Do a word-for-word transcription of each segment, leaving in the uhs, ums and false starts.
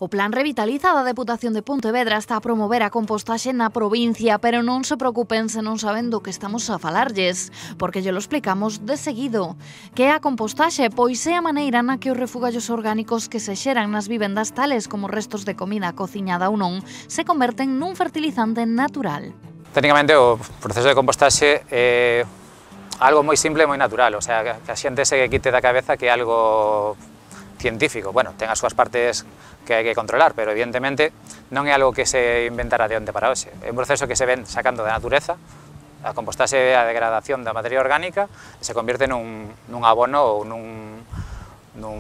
O Plan Revitaliza da Deputación de Pontevedra está a promover a compostaxe na provincia, pero non se preocupen se non saben do que estamos a falarlles, porque lle lo explicamos de seguido. Que é a compostaxe? Pois é a maneira na que os refugallos orgánicos que se xeran nas vivendas, tales como restos de comida cociñada ou non, se converten nun fertilizante natural. Técnicamente o proceso de compostaxe é algo moi simple e moi natural, o sea, que a xente se quite da cabeza que é algo científico. Bueno, ten as súas partes que hai que controlar, pero evidentemente non é algo que se inventara de onte para hoxe. É un proceso que se ven sacando da natureza, a compostaxe é a degradación da materia orgánica e se convierte nun, nun abono ou nun, nun,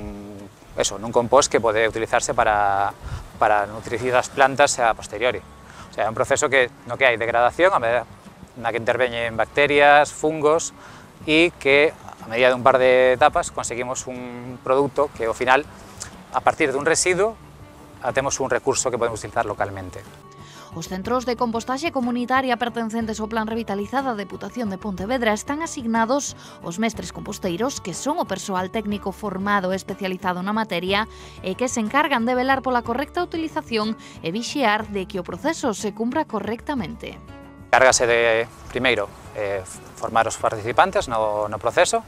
eso, nun compost que pode utilizarse para, para nutrir as plantas a posteriori. O sea, é un proceso que no que hai degradación, a medida na que interveñen bacterias, fungos e que a medida de un par de etapas conseguimos un produto que ao final, a partir dun residuo, temos un recurso que podemos utilizar localmente. Os centros de compostaxe comunitaria pertencentes ao Plan Revitaliza da Deputación de Pontevedra están asignados aos mestres composteiros, que son o persoal técnico formado e especializado na materia e que se encargan de velar pola correcta utilización e vixiar de que o proceso se cumpra correctamente. Cárgase de, primeiro, eh, formar os participantes no, no proceso.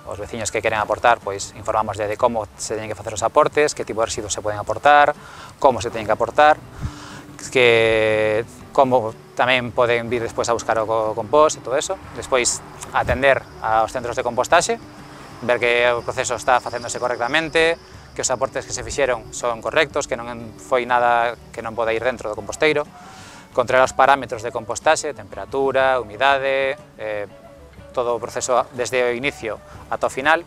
Os veciños que queren aportar, pois informamos de como se teñen que facer os aportes, que tipo de residuos se poden aportar, como se teñen que aportar, que como tamén poden vir despois a buscar o compost e todo eso. Despois atender aos centros de compostaxe, ver que o proceso está facéndose correctamente, que os aportes que se fixeron son correctos, que non foi nada que non poda ir dentro do composteiro, controlar os parámetros de compostaxe, temperatura, humidade, eh, todo o proceso desde o inicio ata o final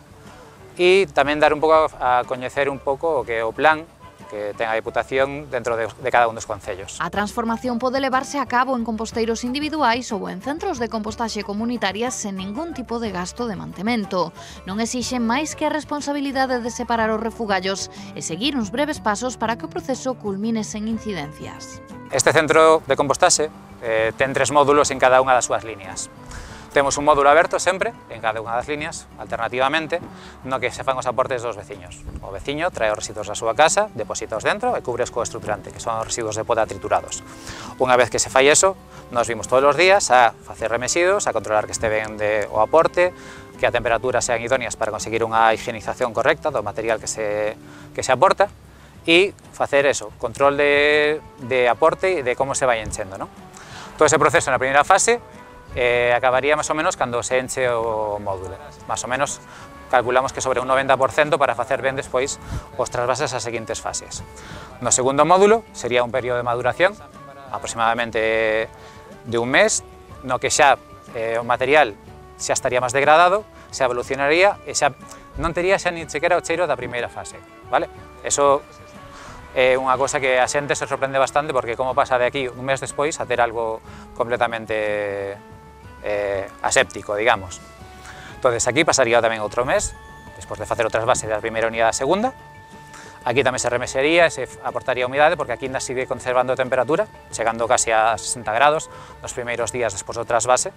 e tamén dar un pouco a coñecer un pouco o que é o plan que ten a Deputación dentro de, de cada un dos concellos. A transformación pode levarse a cabo en composteiros individuais ou en centros de compostaxe comunitarias sen ningún tipo de gasto de mantemento. Non exixen máis que a responsabilidade de separar os refugallos e seguir uns breves pasos para que o proceso culmine sen incidencias. Este centro de compostaxe eh, ten tres módulos en cada unha das súas líneas. Temos un módulo aberto sempre, en cada unha das líneas, alternativamente, no que se fan os aportes dos veciños. O veciño trae os residuos da súa casa, depositaos dentro e cubres co estruturante, que son os residuos de poda triturados. Unha vez que se fai eso, nos vimos todos os días a facer remesidos, a controlar que este ben de, o aporte, que a temperatura sean idóneas para conseguir unha higienización correcta do material que se, que se aporta e facer eso, control de, de aporte e de como se vai enchendo, ¿no? Todo ese proceso na primeira fase Eh, acabaría máis ou menos cando se enche o módulo. Más ou menos calculamos que sobre un noventa por cento para facer ben despois os trasvases ás seguintes fases. No segundo módulo sería un período de maduración, aproximadamente de un mes, no que xa eh, o material xa estaría máis degradado, xa evolucionaría e xa non tería xa ni sequera o cheiro da primeira fase, vale? Eso é unha cosa que a xente se sorprende bastante porque como pasa de aquí un mes despois a ter algo completamente eh, aséptico, digamos. Entonces aquí pasaría tamén outro mes, despois de facer o trasvase da primeira unidade á segunda. Aquí tamén se remexería e se aportaría humidade porque aquí ainda sigue conservando temperatura, chegando casi a sesenta grados nos primeiros días despois do trasvase.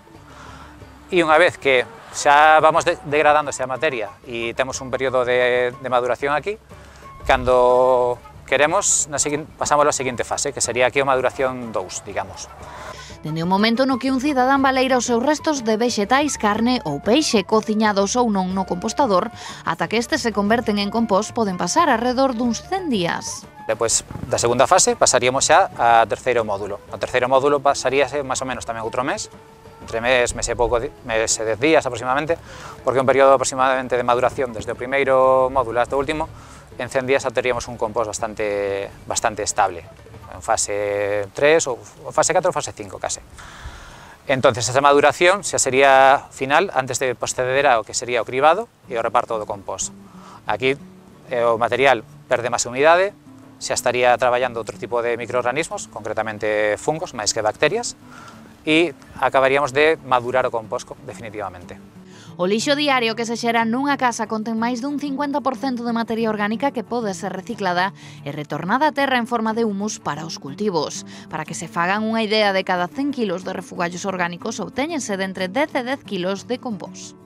E unha vez que xa vamos de degradándose a materia e temos un período de, de maduración aquí, cando queremos, na seguinte, pasamos a seguinte fase, que sería aquí a maduración dous, digamos. Dende o momento no que un cidadán baleira os seus restos de vexetais, carne ou peixe cociñados ou non no compostador, ata que estes se converten en compost, poden pasar alrededor duns cen días. Depois da segunda fase pasaríamos xa ao terceiro módulo. O terceiro módulo pasaríase máis ou menos tamén outro mes, entre mes, mes e pouco, mes e dez días aproximadamente, porque é un período aproximadamente de maduración desde o primeiro módulo hasta o último. En cen días teríamos un compost bastante, bastante estable, en fase tres, ou fase catro ou fase cinco case. Entonces, esa maduración xa sería final antes de proceder ao que sería o cribado e o reparto do compost. Aquí eh, o material perde máis humidade, xa estaría traballando outro tipo de microorganismos, concretamente fungos, máis que bacterias, e acabaríamos de madurar o compost definitivamente. O lixo diario que se xera nunha casa contén máis dun cincuenta por cento de materia orgánica que pode ser reciclada e retornada á terra en forma de humus para os cultivos. Para que se fagan unha idea, de cada cen kilos de refugallos orgánicos obtéñense de entre dez e dez kilos de compost.